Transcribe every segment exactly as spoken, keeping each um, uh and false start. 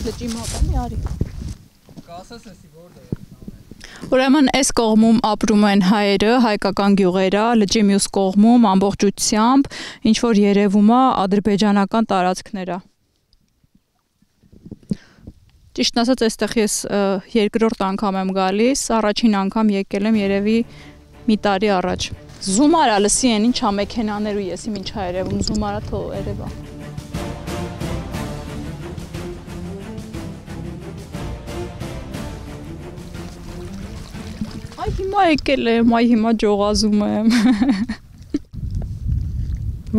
լճի մոտ էլի արի։ Կասես էսի որտե է։ Ուրեմն այս կողմում ապրում են հայերը, հայկական գյուղերը, լճի մյուս կողմում ամբողջությամբ ինչ որ երևում է ադրբեջանական տարածքներ է։ Ճիշտն ասած, այստեղ ես երկրորդ անգամ եմ գալիս, առաջին անգամ եկել եմ երևի մի տարի առաջ։ Զում արա լսի են ինչա մեքենաներ ու եսի ինչա երևում, զում արա թող երևա։ Այ հիմա եկել եմ, այ հիմա ջողազում եմ։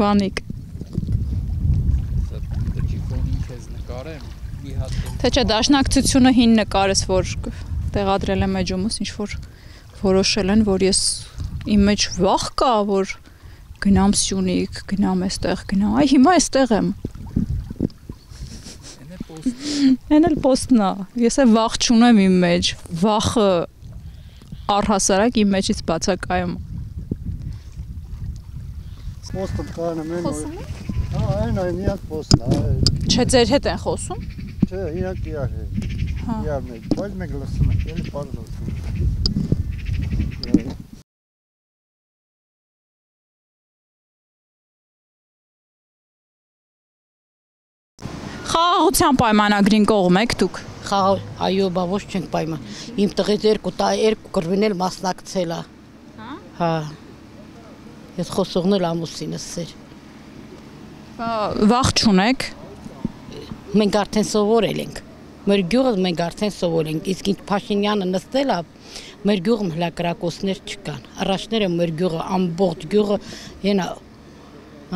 Վանիկ։ Թե չէ դաշնակցությունը հին նկարես, որ տեղադրել եմ էջումս, ինչ որ որոշել են, որ ես իմ մեջ վախ կա, որ գնամ Սյունիք, գնամ այստեղ, գնամ, այ հիմա այստեղ եմ։ Էն էլ պոստն է, ես է վախ չունեմ իմ մեջ, վախը առհասարակ իմ մեջից բացակայում։ Պոստը կանեմ են օր։ Հա, այն այն իհատ պոստն է։ Չէ, ձեր հետ են խոսում։ Չէ, իհատ իհատ է։ Իհատ մեկ, բայց մեկ լսում ենք, էլի պարզ լսում ենք։ Խաղաղության պայմանագրին կողմ եք դուք։ Խաղաղ, այո, բա ոչ չենք պայման։ Իմ տղից երկու տա երկու կռվին էլ մասնակցել է։ Հա։ Ես խոսողն էլ ամուսինս էր։ Վախ չունեք։ Մենք արդեն սովորել ենք։ Մեր գյուղը մենք արդեն սովորել ենք։ Իսկ ինչ Փաշինյանը նստել է, մեր գյուղում հլակրակոցներ չկան։ Առաջները մեր գյուղը ամբողջ գյուղը ենա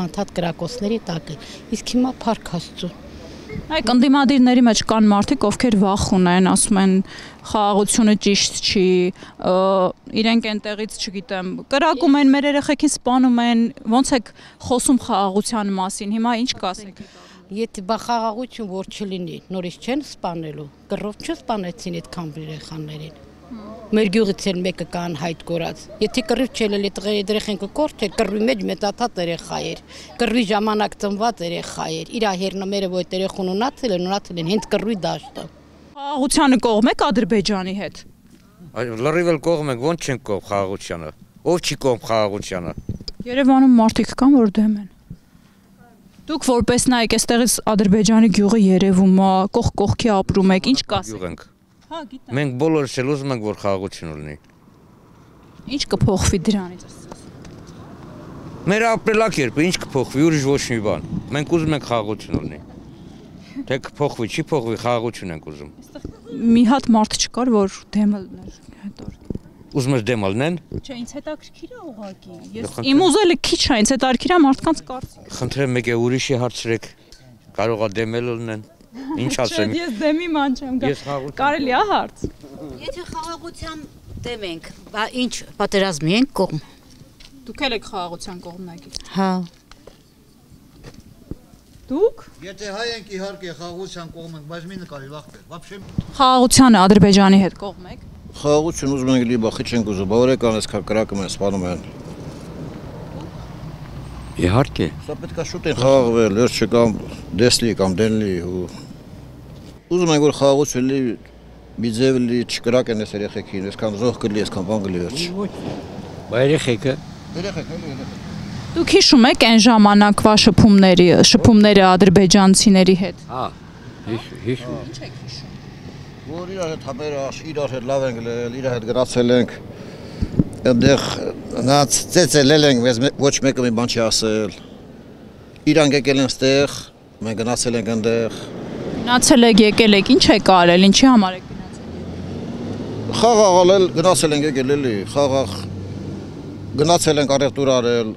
անդադ կրակոցների տակ է։ Իսկ հիմա փառք Աստծո։ Այ կնդիմադիրների մեջ կան մարդիկ, ովքեր վախ ունեն, ասում են խաղաղությունը ճիշտ չի, իրենք այնտեղից չգիտեմ, կրակում են, մեր երեխեքին սպանում են, ոնց եք խոսում խաղաղության մասին, հիմա ինչ կասեք։ Եթե բա խաղաղություն որ չլինի, նորից չեն սպանելու, կռով չսպանեցին այդքան երեխաներին։ Մեր գյուղից էլ մեկը կան հայտ կորած։ Եթե կռիվ չելել է երեխեն կկորչեր, կռվի մեջ մեծաթաթ երեխա էր, կռվի ժամանակ ծնված երեխա էր, իր հերնամերը որ երեխուն ունացել են, ունացել են հենց կռվի դաշտը։ Խաղաղությանը կողմ եք Ադրբեջանի հետ։ Լրիվ էլ կողմ ենք, ոնց չենք կողմ խաղաղությանը։ Ով չի կողմ խաղաղությանը։ Երևանում մարդիկ կան, որ դեմ են։ Դուք որպես նայեք, այստեղից Ադրբեջանի գյուղը երևում է, կողք կողքի ապրում եք, ինչ կասեք։ Մենք բոլորս էլ ուզում ենք, որ խաղաղություն լինի։ Ինչ կփոխվի դրանից։ Մեր ապրելակերպը ինչ կփոխվի, ուրիշ ոչ մի բան։ Մենք ուզում ենք խաղաղություն լինի։ Թե կփոխվի, չի փոխվի, խաղաղություն ենք ուզում։ Մի հատ մարդ չկար, որ դեմը լներ հետո։ Ուզում ես դեմը լինեն։ Չէ, ինձ հետաքրքիր է ուղղակի։ Ես իմ ուզելը քիչ է, ինձ հետաքրքիր է մարդկանց կարծիքը։ Խնդրեմ մեկ է ուրիշի հարցրեք, կարող է դեմել լինեն։ Ինչ ասեմ։ Ես դեմի ման չեմ գա։ Կարելի է հարց։ Եթե խաղաղության դեմ ենք, բա ինչ պատերազմի ենք կողմ։ Դուք էլ եք խաղաղության կողմնակից։ Հա։ Դուք։ Եթե հայ ենք իհարկե խաղաղության կողմ ենք, բայց մի նկարի լախտեր։ Вообще խաղաղությանը Ադրբեջանի հետ կողմ եք։ Խաղաղություն ուզում ենք լի բախի չենք ուզում, բա օրեկան էս կրակում են, սպանում են։ Իհարկե։ Սա պետք է շուտ են խաղաղվել, ես չկամ դեսլի կամ դենլի ու ուզում ենք որ խաղաղություն լի մի ձև լի չկրակեն այս երեխեքին, այսքան զոհ կլի, այսքան բան կլի վերջ։ Բա երեխեքը։ Երեխեք, էլի երեխեք։ Դուք հիշում եք այն ժամանակվա շփումների, շփումները ադրբեջանցիների հետ։ Հա, հիշում։ Ինչ եք հիշում։ Որ իրար հետ համերը իրար հետ լավ ենք լել, իրար հետ գրացել ենք։ Այնտեղ նած ծեծելել ենք, մեզ ոչ մեկը մի բան չի ասել։ Իրանք եկել են ստեղ, մենք գնացել ենք այնտեղ։ Գնացել եք, եկել եք, ինչ եք արել, ինչի համար եք գնացել։ Խաղաղ ալել, գնացել ենք եկել էլի, խաղաղ գնացել ենք առևտուր արել,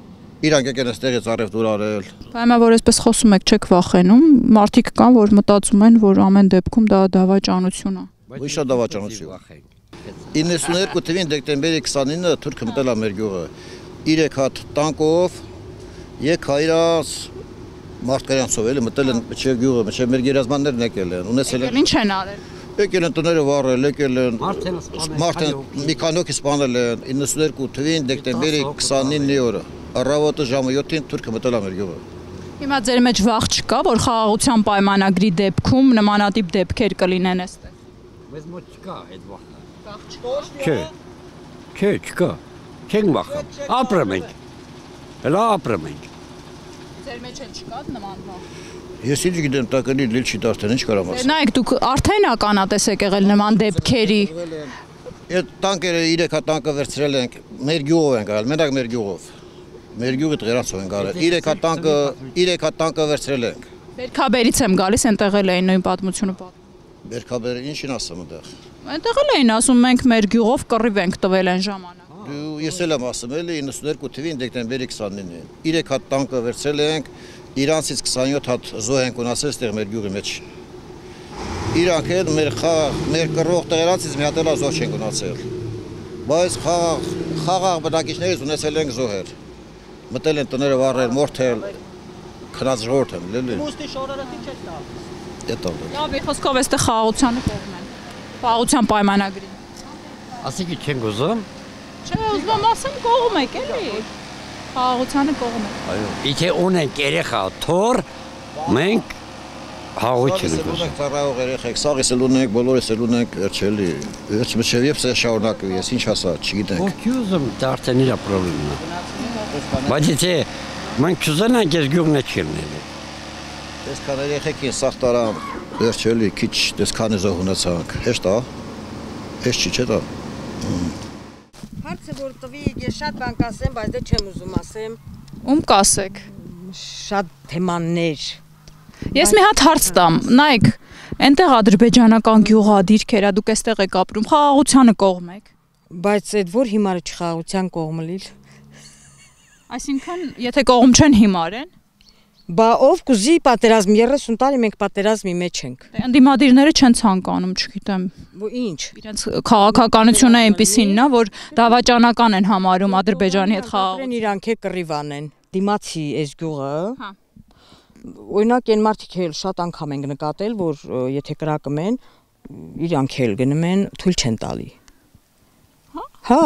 իրանք եկել են ստեղից առևտուր արել։ Բայց որ այսպես խոսում եք, չեք վախենում, մարդիկ կան, որ մտածում են, որ ամեն դեպքում դա դավաճանություն է։ Ոչ շատ դավաճանություն։ իննսուններկու թվին դեկտեմբերի քսանինը թուրքը մտել է մեր գյուղը։ Երեք հատ տանկով, եկայրած մարդկանցով էլի մտել են մինչև գյուղը, մինչև մեր գերազմաններն եկել են, ունեցել են։ Ինչ են արել։ Եկել են տները վառել, եկել են մարդեն մի քանի հոգի սպանել են իննսուններկու թվին դեկտեմբերի քսանինի օրը։ Առավոտը ժամը յոթին թուրքը մտել է մեր գյուղը։ Հիմա ձեր մեջ վախ չկա, որ խաղաղության պայմանագրի դեպքում նմանատիպ դեպքեր կլինեն այստեղ։ Մեզ մոտ չկա այդ վախը։ Վախ չկա։ Չէ։ Չէ, չկա։ Չենք վախում։ Ապրում ենք։ Հələ ապրում ենք։ Ձեր մեջ էլ չկա նման վախ։ Ես ինչ գիտեմ, տականի լիլ չի դարձել, ինչ կարամ ասել։ Նայեք, դուք արդեն ականատես եք եղել նման դեպքերի։ Այդ տանկերը երեք հատ տանկը վերցրել ենք, մեր գյուղով ենք արել, մենակ մեր գյուղով։ Մեր գյուղի տղերացով ենք արել։ երեք հատ տանկը, երեք հատ տանկը վերցրել ենք։ Բերքաբերից եմ գալիս, այնտեղ էլ էին նույն պատմությունը պատմում։ Բերքաբերը ինչին ասում այնտեղ։ Այնտեղ էլ էին ասում, մենք մեր գյուղով կռիվ ենք տվել այն ժամանակ։ Դու ես էլ եմ ասում, էլի իննսուններկու թվին դեկտեմբերի քսանինին։ երեք հատ տանկը վերցրել ենք, իրանցից քսանյոթ հատ զոհ ենք ունացել այստեղ մեր գյուղի մեջ։ Իրանք էլ մեր խաղ, մեր կռվող տղերանցից մի հատ էլ զոհ չենք ունացել։ Բայց խաղ, խաղաղ բնակիչներից ունեցել ենք զոհեր։ Մտել են տները վառել, մորթել, քնած ժողովուրդ եմ, լելի։ Մուստի շորերը ինչ է տա։ Էդ ալ։ Լավ, խոսքով այստեղ խաղաղությանը կողմ են։ Խաղաղության պայմանագրին։ Ասիկի չենք ուզում։ Չէ, ուզում եմ ասեմ կողմ եք էլի։ Խաղաղությանը կողմ եք։ Այո։ Իթե ունենք երեխա, թոր, մենք հաղություն ենք Ունենք ուզում։ ծառայող երեխեք, սաղից էլ ունենք, բոլորս էլ ունենք, էրջելի։ Էջ մշև եփ սա շարունակվի, ես ինչ ասա, չգիտենք։ Ո՞վ ուզում դարձել իր խնդիրն է։ Բայց եթե մենք չուզենանք, ես գյուղն է չլինի։ Տեսքան երեխեքին սաղ տարան, էրջելի, քիչ տեսքանի զոհ ունեցանք։ Հեշտ է։ Հեշտ չի, չէ՞ դա։ Հարցը որ տվի, ես շատ բան կասեմ, բայց դե չեմ ուզում ասեմ։ Ում կասեք։ Շատ թեմաներ։ Ես մի հատ հարց տամ, նայեք, այնտեղ ադրբեջանական գյուղա դիրքերա, դուք այստեղ եք ապրում, խաղաղությանը կողմ եք։ Բայց այդ որ հիմարը չխաղաղության կողմը լիլ։ Այսինքն, եթե կողմ չեն հիմար են, Բա ով կուզի պատերազմ, երեսուն տարի մենք պատերազմի մեջ ենք։ ընդդիմադիրները չեն ցանկանում, չգիտեմ։ Ու ինչ։ Իրենց քաղաքականությունը այնպեսին նա, որ դավաճանական են համարում Ադրբեջանի հետ խաղաղ։ Իրանք է կռիվ անեն։ Դիմացի այս գյուղը։ Հա։ Օրինակ այն մարդիկ էլ շատ անգամ ենք նկատել, որ եթե կրակում են, իրանք էլ գնում են, թույլ չեն տալի։ Հա։ Հա։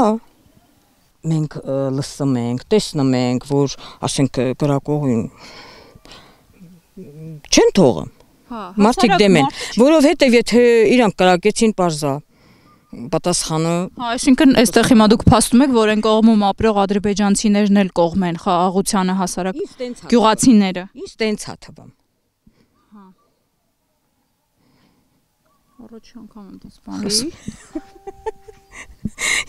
Մենք լսում ենք, տեսնում ենք, որ ասենք կրակողին չեն թողում։ Հա։ Մարդիկ դեմ են, որովհետև եթե իրանք կրակեցին պարզա պատասխանը։ Հա, այսինքն այստեղ հիմա դուք փաստում եք, որ այն կողմում ապրող ադրբեջանցիներն էլ կողմ են խաղաղությանը հասարակ գյուղացիները։ Ինչ տենց է թվում։ Հա։ Առաջ անգամ եմ դա սպանում։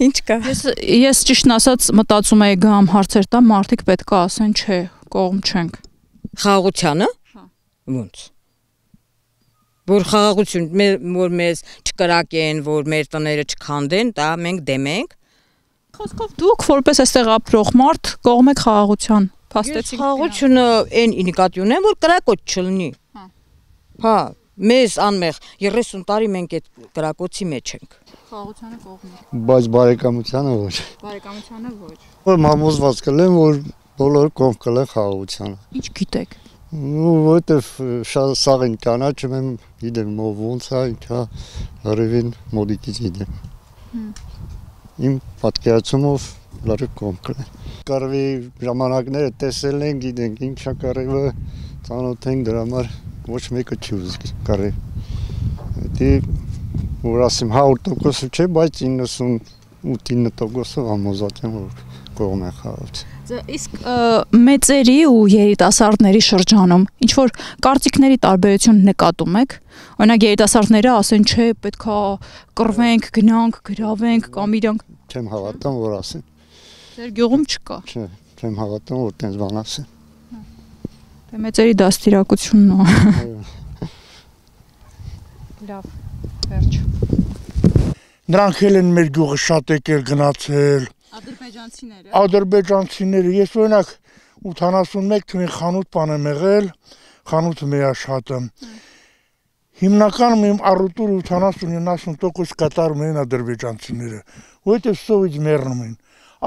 Ինչ կա։ Ես ես ճիշտն ասած մտածում եի գամ հարցեր տամ, մարդիկ պետք է ասեն, չէ, կողմ չենք։ Խաղաղությանը։ Հա։ Ոնց։ Որ խաղաղություն, որ մեզ չկրակեն, որ մեր տները չքանդեն, դա մենք դեմ ենք։ Խոսքով դուք որպես այստեղ ապրող մարդ կողմ եք խաղաղության։ Փաստեցիք։ Խաղաղությունը այն նկատի ունեմ, որ կրակոց չլինի։ Հա։ Հա, մեզ անմեղ երեսուն տարի մենք այդ կրակոցի մեջ ենք։ Խաղաղությանը կողմ եք։ Բայց բարեկամությանը ոչ։ Բարեկամությանը ոչ։ Որ համոզված կլեմ, որ բոլորը կողմ կլեն խաղաղությանը։ Ինչ գիտեք։ Ու որտեվ շատ սաղ են կանաչում եմ, գիտեմ ով ոնց է, ինչա, հրևին մոդիկից գիտեմ։ Իմ պատկերացումով լարը կողմ կլեն։ Կարվի ժամանակները տեսել են, գիտենք ինչա կարևը, ծանոթ ենք դրա համար ոչ մեկը չի ուզի կարև։ Դի որ ասեմ հարյուր տոկոս չէ, բայց իննսունութ տոկոսով համոզված եմ, որ կողմ է խաղաղություն։ Իսկ մեծերի ու երիտասարդների շրջանում ինչ որ կարծիքների տարբերություն նկատում եք։ Օրինակ երիտասարդները ասեն, չէ, պետքա կռվենք, գնանք, գրավենք կամ իրանք Չեմ հավատում, որ ասեն։ Ձեր գյուղում չկա։ Չէ, չեմ հավատում, որ տենց բան ասեն։ Դե մեծերի դաստիարակությունն է։ Լավ, վերջ։ Նրանք էլ են մեր գյուղը շատ եկել գնացել։ Ադրբեջանցիները։ Ադրբեջանցիները, ես օրինակ ութանասունմեկ թվին խանութ բան եմ եղել, խանութը մեր աշխատը։ Հիմնականում իմ առուտուրը ութանասուն իննասուն տոկոս կատարում են ադրբեջանցիները, որովհետև սովից մեռնում են,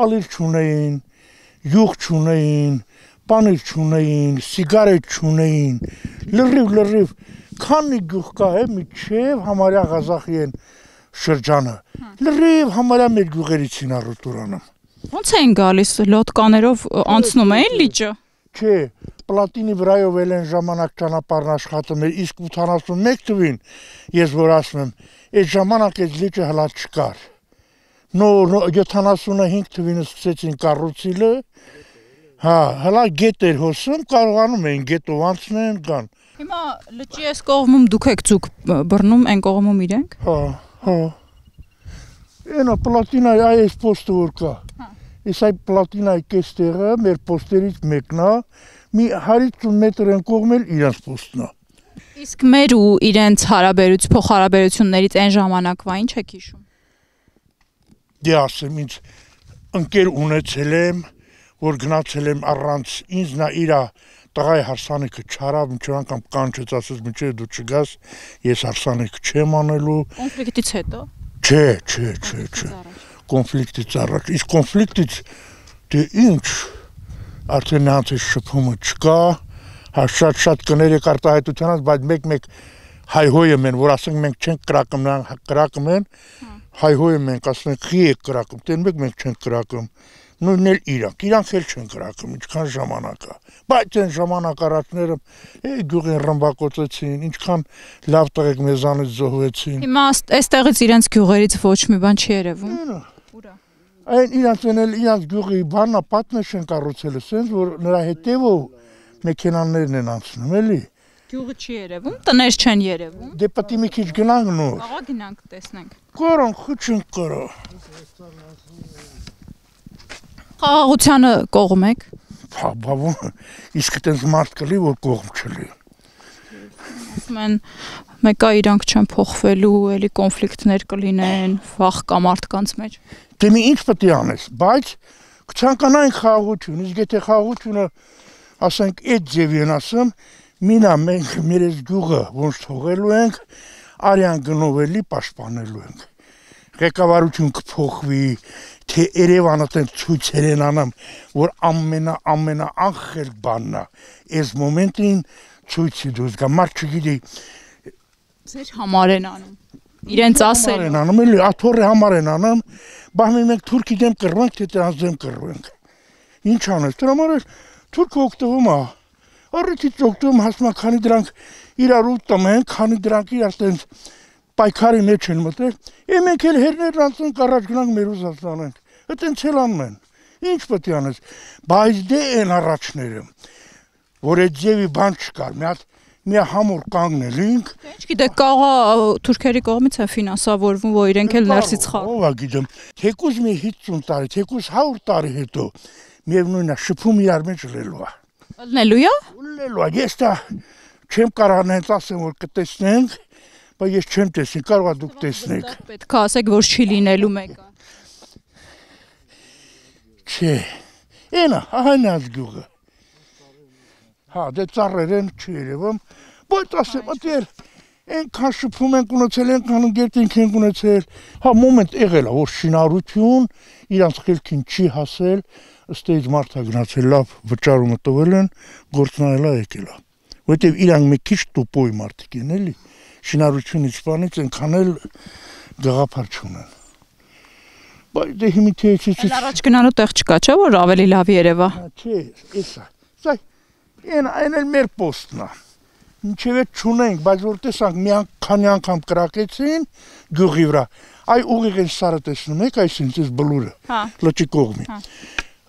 ալիր չունեին, յուղ չունեին, պանիր չունեին, սիգարետ չունեին, լրիվ լրիվ, քանի գյուղ կա է միջև համարյա Ղազախի են շրջանը, լրիվ համարյա մեր գյուղերից են առուտուրանում։ Ոնց էին գալիս լոտկաներով անցնում էին լիճը։ Չէ, պլատինի վրայով էլ են ժամանակ ճանապարհն աշխատում էր, իսկ ութանասունմեկ թվին ես որ ասում եմ, այդ ժամանակ այդ լիճը հլա չկար։ Նոր յոթանասունհինգ թվին սկսեցին կառուցիլը, հա, հլա գետ էր հոսում, կարողանում էին գետով անցնեն կան։ Հիմա լճի այս կողմում դուք եք ձուկ բռնում, այն կողմում իրենք։ Հա, հա։ Այնա պլատինայի այս պոստը որ կա։ Այս այդ պլատինայի կեստեղը մեր պոստերից մեկն է, մի հարյուր մետր են կողմել իրենց պոստն է։ Իսկ մեր ու իրենց հարաբերություն, փոխհարաբերություններից այն ժամանակվա ինչ եք հիշում։ Դե ասեմ ինձ ընկեր ունեցել եմ, որ գնացել եմ առանց ինձ նա իրա տղայի հարսանիքը չարավ, մինչև անգամ կանչեց ասես մինչև դու չգաս, ես հարսանիքը չեմ անելու։ Կոնֆլիկտից հետո։ Չէ, չէ, չէ, չէ։ Կոնֆլիկտից առաջ։ Իսկ կոնֆլիկտից դե ինչ արդեն նրանց այս շփումը չկա, հա շատ-շատ կներ եք արտահայտությանից, բայց մեկ-մեկ հայհոյում են, որ ասենք մենք չենք կրակում, նրանք կրակում են, հայհոյում ենք, ասում ենք խի եք կրակում, դեն մեկ մենք չենք կրակում։ Նույնն էլ իրանք, իրանք էլ չեն կրակում, ինչքան ժամանակ է, բայց այն ժամանակ առաջները գյուղին ռմբակոծեցին, ինչքան լավ տղեկ մեզանից զոհվեցին։ Հիմա այստեղից իրենց գյուղերից ոչ մի բան չի երևում։ Ուրա։ Այն իրանք էլ իրանք գյուղի բանա պատնեշ են կառուցել, ասենց որ նրա հետևով մեքենաներն են անցնում, էլի։ Գյուղը չի երևում, տներ չեն երևում։ Դե պետք է մի քիչ գնանք նոր։ Աղա գնանք տեսնենք։ Կարան խոչին կարա։ Խաղաղությանը կողմ եք։ Հա, բավոն, իսկ այդպես մարդ կլի, որ կողմ չլի։ Ասում են, մեկա իրանք չեն փոխվելու, էլի կոնֆլիկտներ կլինեն, վախ կա մարդկանց մեջ։ Դե մի ինչ պետք է անես, բայց կցանկանային խաղաղություն, իսկ եթե խաղաղությունը, ասենք, այդ ձևի են ասում, մինա մենք մեր այս գյուղը ոնց թողելու ենք, արյան գնով էլի պաշտպանելու ենք։ Ղեկավարություն կփոխվի, թե Երևանը տեն ցույցեր են անում, որ ամենա ամենա անխել բանն է, այս մոմենտին ցույցի դուրս գա, մարդ չգիտի ձեր համար են անում։ Իրենց ասել են անում, էլի աթոռի համար են անում, բահմի մենք թուրքի դեմ կռվենք, թե դրանց դեմ կռվենք։ Ինչ անես, դրա համար էլ թուրքը օգտվում է։ Առիթից օգտվում հասնա, քանի դրանք իրար ուտում են, քանի դրանք իրար տենց պայքարի մեջ են մտել, է մենք էլ հերներն անցնենք առաջ գնանք մեր ուզածն անենք, այդենց էլ անում են, ինչ պետք է անես, բայց դե են առաջները, որ այդ ձևի բան չկար, մի հատ մի համուր կանգնելինք։ Ինչ գիտեք, կաղա թուրքերի կողմից է ֆինանսավորվում, որ իրենք էլ ներսից խաղում։ Ով է գիտեմ, թեկուզ մի հիսուն տարի, թեկուզ հարյուր տարի հետո, միևնույն է, շփում իրար մեջ լելու է։ Լնելու է։ Լելու է, ես դա չեմ կարող հենց ասեմ, որ կտեսնենք, բայց ես չեմ տեսնի, կարող է դուք տեսնեք։ Պետք է ասեք, որ չի լինելու մեկը։ Չէ, այնա, այն այս գյուղը։ Հա, դե ծառեր են չի երևում, բայց ասեմ, ատեր, այնքան շփում ենք ունեցել, այնքան ընկերտինք ենք ունեցել, հա, մոմենտ եղել է, որ շինարություն իրանց խելքին չի հասել, ըստ էից մարդա գնացել լավ վճարումը տվել են, գործնայել է եկել է։ Որտեւ իրանք մի քիչ տուպոյ մարդիկ են, էլի, շինարությունից բանից այնքան էլ գաղափար չունեն։ Բայց դե հիմի թե Էլ առաջ գնալու տեղ չկա, չէ՞ որ ավելի լավ երևա։ Չէ, էսա։ Սա այն այն էլ մեր պոստն է։ Ինչև է չունենք, բայց որ տեսանք մի քանի անգամ կրակեցին գյուղի վրա։ Այ ուղիղ են սարը տեսնում եք, այսինքն այս բլուրը։ Հա։ Լճի կողմի։ Հա։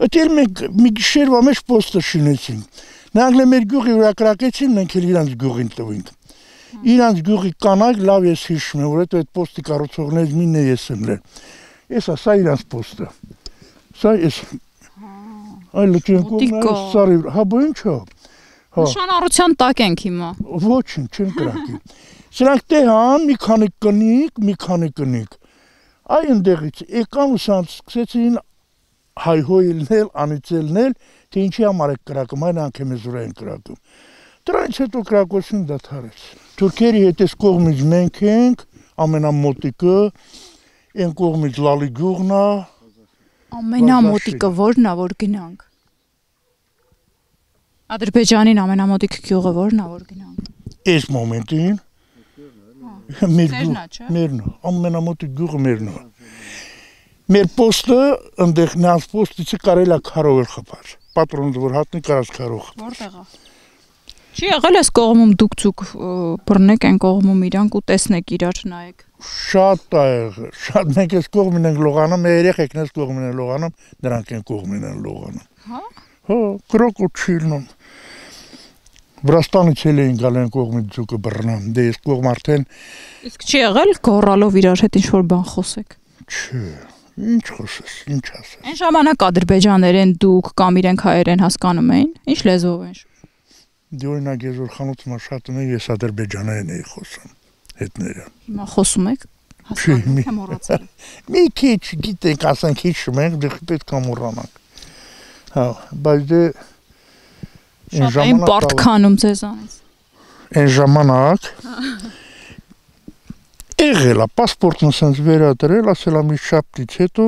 Այդել մենք մի գիշերվա մեջ պոստը շինեցինք։ Նրանք էլ մեր գյուղի վրա կրակեցին, մենք էլ իրանց գյուղին տվինք։ Իրանց գյուղի կանայք լավ ես հիշում եմ, որ այդ պոստի կառուցողներից մինն է ես եմ լեր։ Էսա, սա իրանց պոստը։ Սա էս։ Այ լճին կողմը սարի, հա բա ինչ է։ Նշանառության տակ ենք հիմա։ Ոչինչ, չեն կրակի։ Սրանք տեղան մի քանի կնիկ, մի քանի կնիկ։ Այ այնտեղից եկան ու սրանց սկսեցին հայհոյելնել, անիծելնել, թե ինչի համար եք կրակում, այն անգամ մեզ վրա են կրակում։ Դրանից հետո կրակոցին դադարեց։ Թուրքերի հետ այս կողմից մենք ենք, ամենամոտիկը, այն կողմից լալի գյուղն է։ Ամենամոտիկը ո՞րն է, որ գնանք։ Ադրբեջանին ամենամոտիկ գյուղը ո՞րն է, որ գնանք։ Այս մոմենտին մեր գյուղը, մերն է, ամենամոտիկ գյուղը մերն է։ Մեր պոստը, ընդեղ նրանց պոստից կարելի է քարով էլ խփալ։ պատրոնը որ հատնի կարած կարող։ Որտեղ է։ Չի եղել այս կողմում դուք ցուկ բռնեք այն կողմում իրանք ու տեսնեք իրար նայեք։ Շատ է եղել, շատ մենք այս կողմին ենք լողանում, մեր երեխեքն այս կողմին են լողանում, նրանք այն կողմին են լողանում։ Հա։ Հա, կրոկու չիլնում։ Վրաստանից էլ էին գալ այն կողմից ձուկը բռնան, դե այս կողմ արդեն։ Իսկ չի եղել գոռալով իրար հետ ինչ-որ բան խոսեք։ Չէ, ինչ խոսես, ինչ ասես։ Այն ժամանակ ադրբեջաներեն դուք կամ իրենք հայերեն հասկանում էին, ինչ լեզվով են։ Դե օրինակ ես որ խանութում աշխատում եմ, ես ադրբեջաներեն էի խոսում հետները։ Հիմա խոսում եք։ Հասկանում եք մոռացել։ Մի քիչ գիտենք, ասենք հիշում ենք, դե պետք է մոռանանք։ Հա, բայց դե Շատ այն պարտքանում ձեզանից։ Այն ժամանակ եղել է, պասպորտն ասենց վերադրել, ասել է մի շաբթից հետո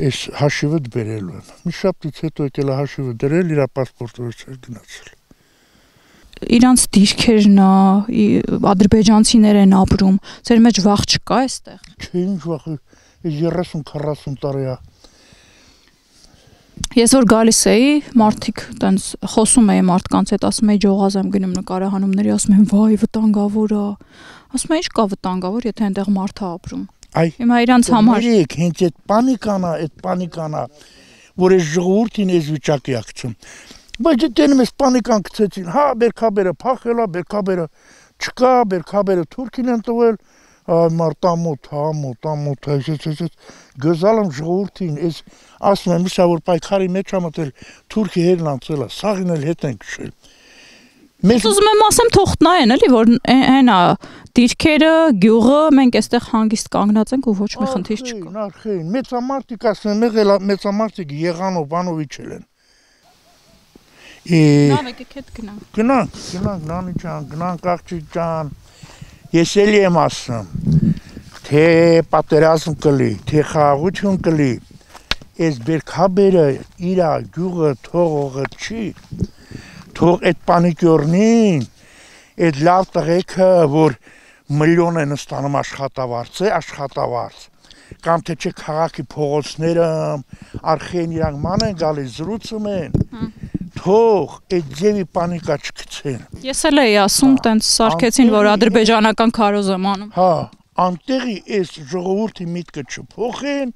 այս հաշիվը դբերելու եմ։ Մի շաբթից հետո եկել է հաշիվը դրել, իր պասպորտը վերցրել գնացել։ Իրանց դիրքերն է, ադրբեջանցիներ են ապրում, ձեր մեջ վախ չկա այստեղ։ Չէ, ինչ վախ, երեսուն քառասուն տարի է։ Ես որ գալիս էի, մարդիկ տենց խոսում էի մարդկանց հետ, ասում էի ջողազ եմ գնում նկարահանումների, ասում են վայ վտանգավոր է։ Ասում եմ ինչ կա վտանգավոր, եթե այնտեղ մարդ է ապրում։ Այ հիմա իրանց համար երեք հենց այդ պանիկան է, այդ պանիկան է, որ այս ժողովրդին այս վիճակի ակցում։ Բայց դեռ մեզ պանիկան գցեցին, հա, բերքաբերը փախել է, բերքաբերը չկա, բերքաբերը թուրքին են տվել, մարտամոտ, հա, մոտամոտ, այսպես գզալ եմ ժողովրդին, այս ասում եմ, իսա որ պայքարի մեջ ա մտել թուրքի հերն անցել է, սաղին էլ հետ են քշել։ Ես ուզում եմ ասեմ թող նայեն էլի, որ այն է դիրքերը, գյուղը, մենք այստեղ հանգիստ կանգնած ենք ու ոչ մի խնդիր չկա։ Նախին, մեծամարտիկ ասում եմ, եղել մեծամարտիկ Եղանով, Բանովիչել են։ Նավ եկեք հետ գնանք։ Գնանք, գնանք, նանի ջան, գնանք աղջի ջան։ Ես էլի եմ ասում, թե պատերազմ կլի, թե խաղաղություն կլի, այս բերքաբերը իրա գյուղը թողողը չի, թող այդ պանիկյորնին, այդ լավ տղեկը, որ միլիոն են ստանում աշխատավարձ է, աշխատավարձ, կամ թե չէ քաղաքի փողոցները, արխեն իրանք ման են գալիս, զրուցում են, թող այդ ձևի պանիկա չգցեն։ Ես էլ էի ասում, տենց սարքեցին, որ ադրբեջանական քարոզ եմ անում։ Հա, անտեղի այս ժողովրդի միտքը չփոխեն,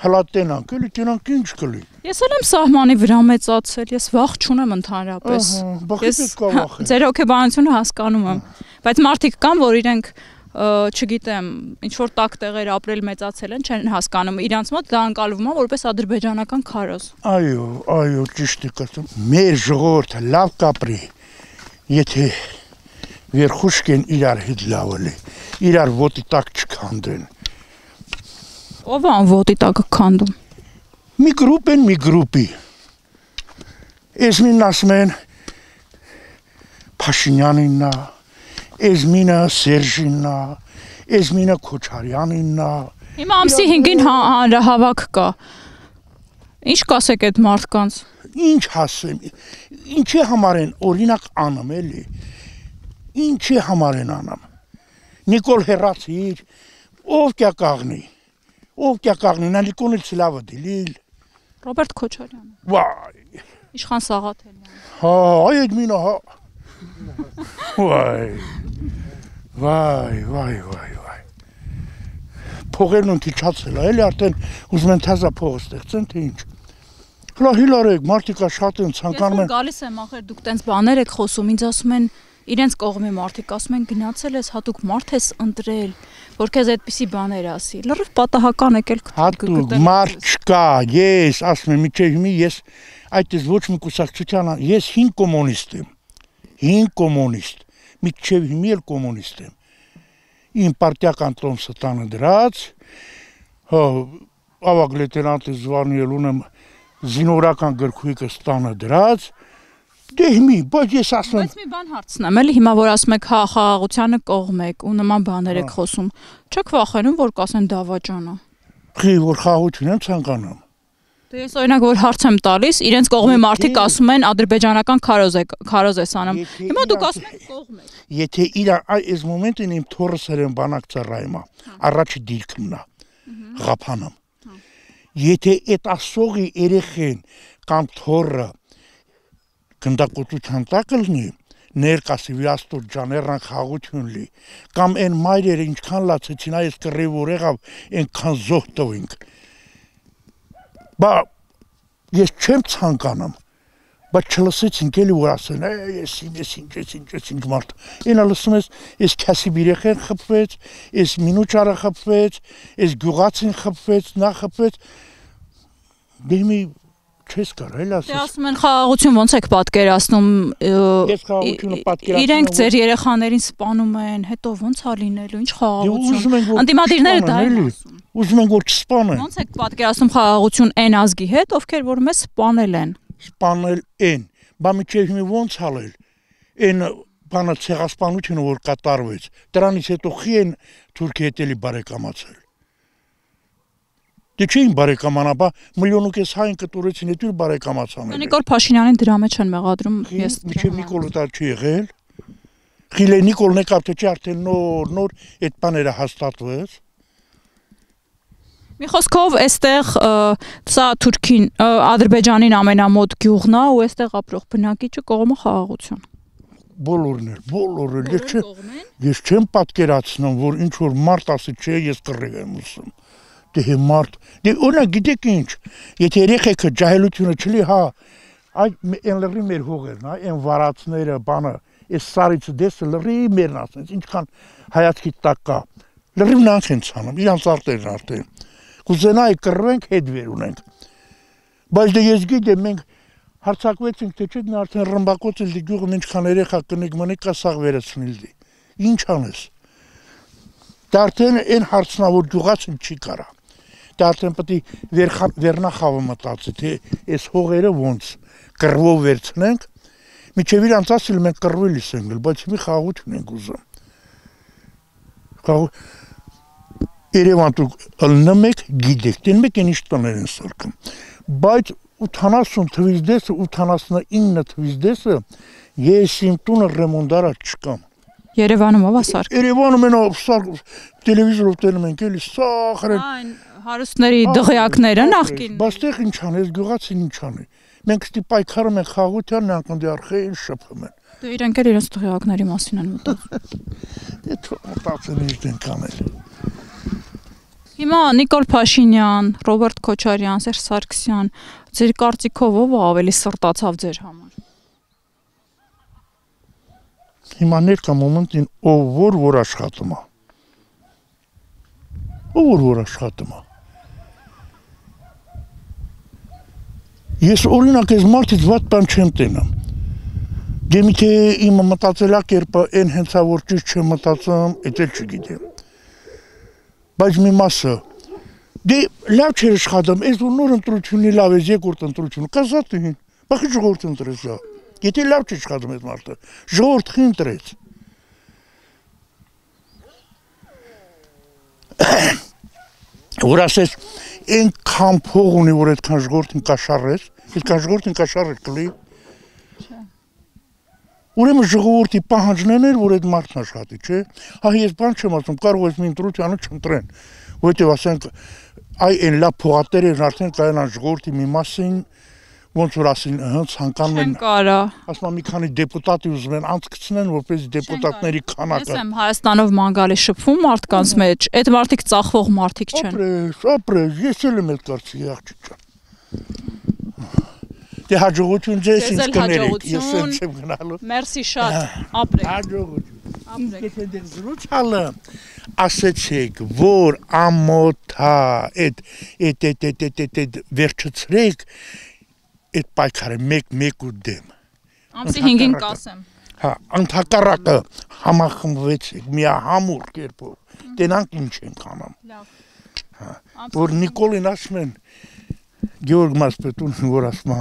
հլա տենանք, էլի տենանք ինչ կլի։ Ես էլ եմ սահմանի վրա մեծացել, ես վախ չունեմ ընդհանրապես։ Ես ձեր հոգեբանությունը հասկանում եմ, բայց մարդիկ կան, որ իրենք չգիտեմ, ինչ որ տակ տեղեր ապրել մեծացել են, չեն հասկանում, իրանց մոտ դա անցալվում է որպես ադրբեջանական քարոզ։ Այո, այո, ճիշտ եք ասում։ Մեր ժողովուրդը լավ կապրի, եթե վերխուշկեն իրար հետ լավ էլի, իրար ոտի տակ չքանդեն։ Ով է ոտի տակը քանդում։ Մի գրուպ են, մի գրուպի։ Էս մին ասում են Փաշինյանինն է, էս մինը Սերժինն է, էս մինը Քոչարյանինն է։ Հիմա ամսի հինգին հանրահավաք կա։ Ինչ կասեք այդ մարդկանց։ Ինչ ասեմ, ինչի համար են օրինակ անում էլի։ Ինչի համար են անում։ Նիկոլ հերացիր, ով կյա կաղնի։ Ով կյա կաղնի, նա Նիկոլը ցլավը դիլիլ։ Ռոբերտ Քոչարյանը։ Վայ։ Իշխան Սաղաթելյանը։ Հա, այդ մինը հա։ Վայ։ Վայ, վայ, վայ, վայ։ Փողերն ընթիչացել է, էլի արդեն ուզում են թազա փող ստեղծեն, թե ինչ։ Հլա հիլարեք, մարդիկա շատ են ցանկանում են։ Ես գալիս եմ, ախր դուք տենց բաներ եք խոսում, ինձ ասում են իրենց կողմի մարդիկ ասում են գնացել ես հատուկ մարդ ես ընտրել, որ քեզ այդպիսի բաներ ասի։ Լրիվ պատահական եկել հատուկ մարդ չկա, ես ասում եմ, միջև հիմի ես այդպես ոչ մի կուսակցության, ես հին կոմունիստ եմ։ Հին կոմունիստ, միջև հիմի էլ կոմունիստ եմ։ Իմ պարտիական տոմսը տանը դրած, հա, ավագ լեյտենանտի զվարնել ունեմ զինվորական գրքույկը տանը դրած, դե հիմի, բայց ես ասում եմ։ Բայց մի բան հարցնեմ, էլի հիմա որ ասում եք հա խաղաղությանը կողմ եք ու նման բաներ եք խոսում, չեք վախենում որ կասեն դավաճանա։ Խի որ խաղաղություն եմ ցանկանում։ Դե ես օրինակ որ հարց եմ տալիս, իրենց կողմի մարդիկ ասում են ադրբեջանական քարոզ է քարոզ ես անում։ Հիմա դուք ասում եք կողմ եք։ Եթե իր այս մոմենտին իմ թորս երեն բանակ ծառայում է, առաջի դիրքումն է, ղափանում։ Եթե այդ ասողի երեխեն կամ թորը գնդակոծության տակ լինի, ներկասի Աստուր ջաներան խաղություն լի, կամ այն մայրերը ինչքան լացեցին այս կռիվ որ եղավ, այնքան զոհ տվինք։ Բա ես չեմ ցանկանում, բայց չլսեցինք էլի որ ասեն, ես ես ինչ ես ինչ ես ինչ մարդ։ Ինա լսում ես, ես քասի բիրեխեն խփվեց, ես մինուճարը խփվեց, ես գյուղացին խփվեց, նա խփվեց։ Դեմի չես կարել ասես։ Դե ասում են խաղաղություն ոնց եք պատկերացնում։ Ես խաղաղությունը պատկերացնում։ Իրենք ձեր երեխաներին սպանում են, հետո ոնց է լինելու, ինչ խաղաղություն։ Անդիմադիրները դա են ասում։ Ուզում են որ չսպանեն։ Ոնց եք պատկերացնում խաղաղություն այն ազգի հետ, ովքեր որ մեզ սպանել են։ Սպանել են, բա միջև հիմա ոնց հալել։ Այն բանը ցեղասպանությունը որ կատարվեց, դրանից հետո խի են Թուրքիա հետ էլի բարեկամացել։ Դե չէին բարեկամանաբա միլիոն ու կես հայն կտուրեցին հետ ու բարեկամացան։ Նիկոլ Փաշինյանին դրա մեջ են մեղադրում, ես միջև Նիկոլը դա չի եղել։ Խիլե Նիկոլն եկավ թե չէ արդեն նոր նոր այդ բաները հաստատվեց։ Մի խոսքով այստեղ սա Թուրքին Ադրբեջանին ամենամոտ գյուղն է ու այստեղ ապրող բնակիչը կողմը խաղաղություն։ Բոլորն էլ, բոլորը ես չեմ ես չեմ պատկերացնում որ ինչ որ մարդ ասի չէ ես կռիվ եմ ուսում։ Դե մարդ, դե օրինակ գիտեք ինչ, եթե երեխեքը ջահելությունը չլի, հա, այդ այն լրի մեր հողերն, հա, այն վարածները, բանը, այս սարից դեսը լրի մերն ասենց, ինչքան հայացքի տակ կա, լրիվ նրանք են ցանում, իրանց արտերն արդեն։ Կուզենայի կռվենք, հետ վեր ունենք։ Բայց դե ես գիտեմ, մենք հարցակվեցինք, թե չէ նա արդեն ռմբակոց էլ դի գյուղում ինչքան երեխա կնիկ մնիկ կա սաղ վերացնել դի։ Ինչ անես։ Դա արդեն այն հարցնա որ գյուղացին չի կարա։ Դա արդեն պետք է վերնախավը մտածի, թե այս հողերը ոնց կռվով վերցնենք, միջև իրանց ասել մենք կռվելիս ենք, բայց մի խաղաղություն ենք ուզում։ Խաղ Երևան դուք ըլնում եք, գիտեք, դեն մեկ են ինչ տներ են սարքում։ Բայց ութանասուն թվից դեսը, ութանասունինը թվից դեսը ես իմ տունը ռեմոնդարա չկամ։ Երևանում ով ասար։ Երևանում են տելևիզորով տենում ենք, էլի սախր են։ Հարուստների դղյակները նախկին։ Բայց տեղ ինչ անես, գյուղացին ինչ անի։ Մենք ստի պայքարում ենք խաղաղության, նրանք ընդի արխային շփում են։ Դե իրենք էլ իրենց դղյակների մասին են մտածում։ Դե մտածեն ինչ են կանել։ Հիմա Նիկոլ Փաշինյան, Ռոբերտ Քոչարյան, Սերժ Սարգսյան, ձեր կարծիքով ով ավելի սրտացավ ձեր համար։ Հիմա ներկա մոմենտին ով որ որ աշխատում է։ Ով որ որ աշխատում է։ Ես օրինակ այս մարդից վատ բան չեմ տենամ։ Դե միթե իմ մտածելակերպը այն հենցա որ ճիշտ չեմ մտածում, էդ էլ չգիտեմ։ Բայց մի մասը դե լավ չէր աշխատում, այս որ նոր ընտրությունի լավ է, երկրորդ ընտրությունը, կազատին, բախի ժողովուրդ ընտրեց դա։ Եթե լավ չի աշխատում այդ մարդը, ժողովուրդ խի ընտրեց։ Որ ասես այնքան փող ունի, որ այդքան ժողովրդին կաշառես, այդքան ժողովրդին կաշառել կլի։ Ուրեմն ժողովրդի պահանջն էր, որ այդ մարդն աշխատի, չէ։ Հա ես բան չեմ ասում, կարող ես մի ընտրությանը չընտրեն, որովհետև ասենք այ այն լավ փողատերերն արդեն կայանան ժողովրդի մի մասին, ոնց որ ասին, հա, ցանկանում են։ Կարա։ Ասում մի քանի դեպուտատի ուզում են անցկացնեն, որպես դեպուտատների քանակը։ Ես եմ Հայաստանով մանգալի շփվում մարդկանց մեջ, այդ մարդիկ ծախվող մարդիկ չեն։ Ապրես, ապրես, ես էլ եմ այդ կարծիքի աղջիկ ջան։ Դե հաջողություն ձեզ ինձ կներեք, ես եմ գնալու։ Մերսի շատ, ապրեք։ Հաջողություն։ Ապրեք։ Եթե դեր զրուցալը ասեցեք, որ ամոթա այդ այդ այդ այդ այդ վերջացրեք այդ պայքարը մեկ-մեկ ու դեմ։ Ամսի հինգին կասեմ։ Հա, ընդհակառակը համախմբվեցեք միահամուռ կերպով։ Տենանք ինչ են անում։ Լավ։ Որ Նիկոլին ասում են Գեորգ Մասպետունին որ ասում է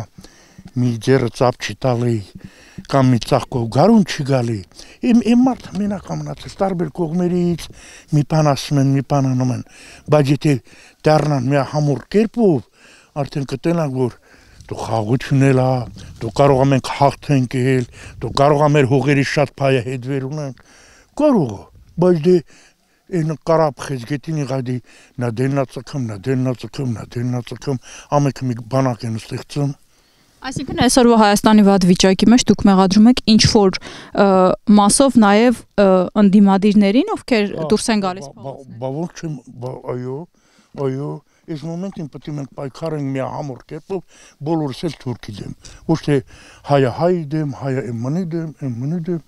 մի ձեռը ծափ չի տալի կամ մի ծաղկով գարուն չի գալի։ Իմ իմ մարդը մենակ ամնացել տարբեր կողմերից մի բան ասում են, մի բան անում են, բայց եթե դառնան միահամուռ կերպով արդեն կտենանք որ դու խաղություն էլ ա, դու կարող ա մենք հաղթենք էլ, դու կարող ա մեր հողերի շատ փայը հետ վեր ունենք, կարող ա, բայց դե Այն կարապ խեզգետին իղադի նա դեննացակում, նա դեննացակում, նա դեննացակում, ամեքը մի բանակ են ստեղծում։ Այսինքն այսօրվա Հայաստանի վատ վիճակի մեջ դուք մեղադրում եք ինչ որ մասով նաև ընդդիմադիրներին, ովքեր դուրս են գալիս փողոցներ։ Բա ոչ չեմ, այո, այո, այս մոմենտին պետք է մենք պայքարենք մի համոր կերպով բոլորս էլ թուրքի դեմ։ Ոչ թե հայը հայի դեմ, հայը էմմանի դեմ, էմմանի դեմ։